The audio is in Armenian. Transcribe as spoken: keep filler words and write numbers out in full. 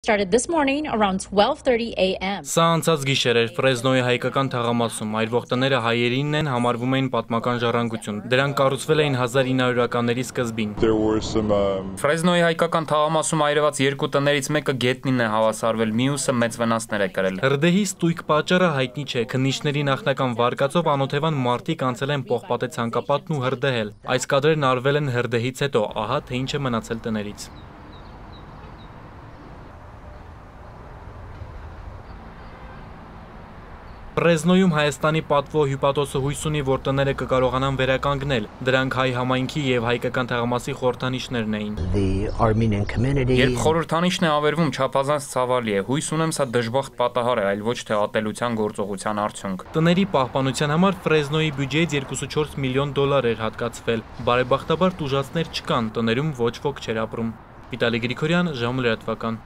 Started this morning around twelve thirty a m Սա անցած գիշեր էր Ֆրեզնոյի հայկական թաղամասում, այրվող տները հայերինն են, համարվում էին պատմական ժառանգություն։ Դրանք կառուցվել էին հազար ինը հարյուրականների սկզբին։ Ֆրեզնոյի հայկական թաղամասում այրված երկու տներից մեկը գետնին է հավասարվել, մյուսը մեծ վնասներ է կրել։ Հրդեհի ստույգ պատճառը հայտնի չէ։ Քննիչների նախնական վարկածով անօթևան մարտիկ անցել են պողպատե ցանկապատն ու հրդեհել։ Այս կադրերն արվել են հրդեհից հետո, ահա թե ինչ է մնացել տներից։ Ֆրեզնոյում Հայաստանի պատվո հյուպատոսը հույս ունի, որ տները կկարողանան վերականգնել։ Դրանք հայ համայնքի եւ հայկական թաղամասի խորհրդանիշներն էին։ Երբ խորհրդանիշն է ավերվում, չափազանց ցավալի է։ Հույս ունեմ, սա դժբախտ պատահար է, այլ ոչ թե ատելության գործողության արդյունք։ Տների պահպանության համար Ֆրեզնոյի բյուջեից երկուսուչորս միլիոն դոլար էր հատկացվել։ Բարեբախտաբար տուժածներ չկան, տներում ոչ ոք չէր ապրում։ Վիտալի Գրիգորյան, ժամը լրատվական։